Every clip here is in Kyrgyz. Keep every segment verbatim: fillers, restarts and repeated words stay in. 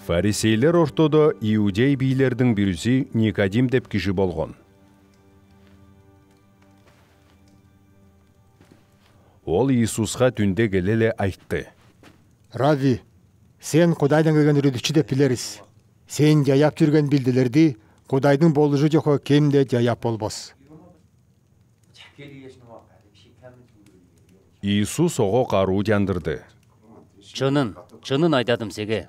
Фарисейлер ортодо иудей бийлердин бириси Никодим деп киши болгон. Ол Иисуска түндө келе эле айтты: Рави, сен Кудайдан келген үрүдүчү деп билебиз. Сен жаяп жүргөн билдилерди Кудайдын болушу жокко кемде жаяп болбос. Иисус ого каруу жандырды. Чынын, чынын айтадым сиге.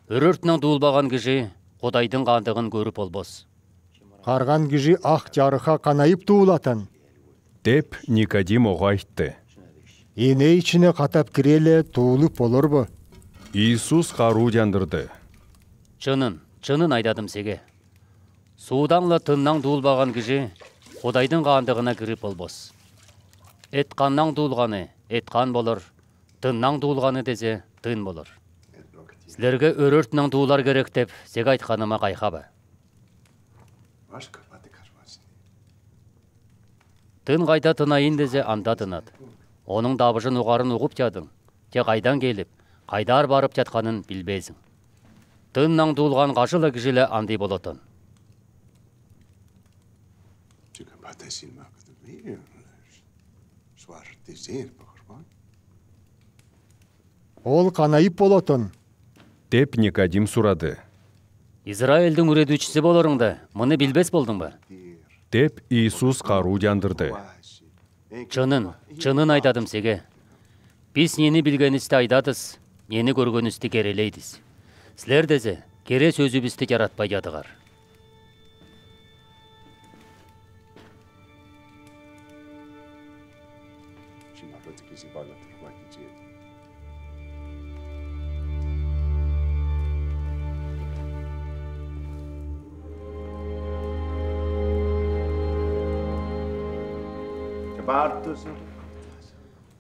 Өрөртүнөн дуулбаган киши Кудайдын кандыгын көрүп болбос. Карган киши ак жарыка канайып дуулатын. Деп Никодим ого айтты. Эне ичине катап кире эле туулуп болорбу? Иисус каруу жандырды. Чынын, чынын айтадым сиге. Суудан эле тыннан дуулбаган киши Кудайдын кандыгына кирип болбос. Эт кандан дуулганы эт кан болор, тыннан дуулганы десе тын болор. Силерге өрөртүнөн дуулар керек деп сиге айтканыма кайхабы. Тын кайда тынайын десе анда тынат. Онун дабышын угарын угуп жадың, же кайдан келип, кайдар барып жатканын билбейсиң. Тыннан дуулган кашыла кишиле андай болотон. Ол канайып болотон. Деп Никодим сурады. Израилдин үрөдүүчүсү болоруңда, муну билбес болдуңбу? Деп Иисус каруу жандырды. Чынын, чынын айтадым сиге. Биз нени билгенибизди айтабыз, нени көргөнүбүздү керелейбиз. Силер десе, кере сөзүбүздү жаратпай жадыгар.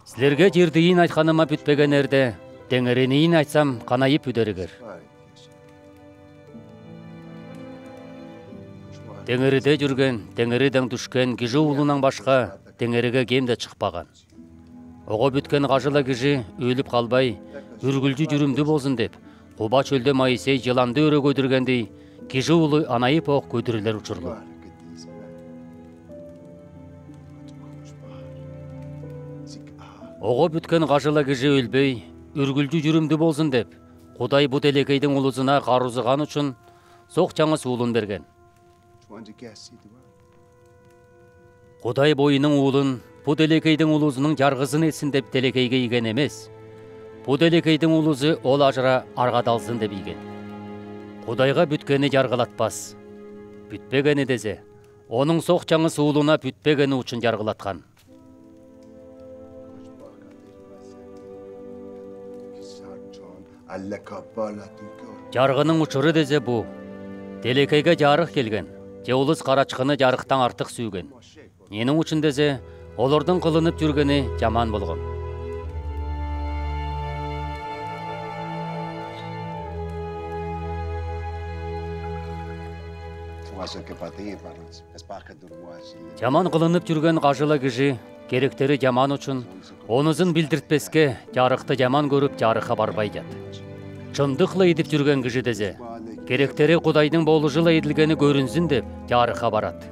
Силерге жердийин айтканыма бүтпегенерде, теңеринийин айтсам канайып үдөрүгөр. Теңериде жүрген, теңериден түшкен киши уулунан башка теңериге кемде чыкпаган. Ого бүткөн кажыла киши өлүп калбай, үргүлжү жүрүмдүү болсун деп, Куба чөлдө Моисей жыланды өрө көдүргөндей, киши уулу анайып ок көдүрүлөр учурлу. Ого бүткөн кажыла киши өлбөй, үргүлжү жүрүмдүү болсун деп, Кудай бут элекейдин улузуна карузган үчүн сок жаңы уулун берген. Кудай боюнун уулун бут элекейдин улузунун жаргысын этсин деп телекейге ийген эмес. Бут элекейдин улузу ол ажыра аргадалсын деп ийген. Кудайга бүткени жаргылатпас. Бүтпегени десе, онун сок жаңы уулуна бүтпегени үчүн жаргылаткан. Жаргынын учуру десе бу. Телекейге жарык келген, же улус карачкыны жарыктан артык сүйгөн. Энин үчүн десе, олордун кылынып жүргени жаман болгон. Жаман кылынып жүргөн кажыла киши керектери жаман үчүн онузун билдиртпеске жарыкты жаман көрүп жарыкка барбай жат. Чындыкла идип жүргөн киши десе, керектери Кудайдын болушу эле идилгени көрүнсүн деп жарыкка барат.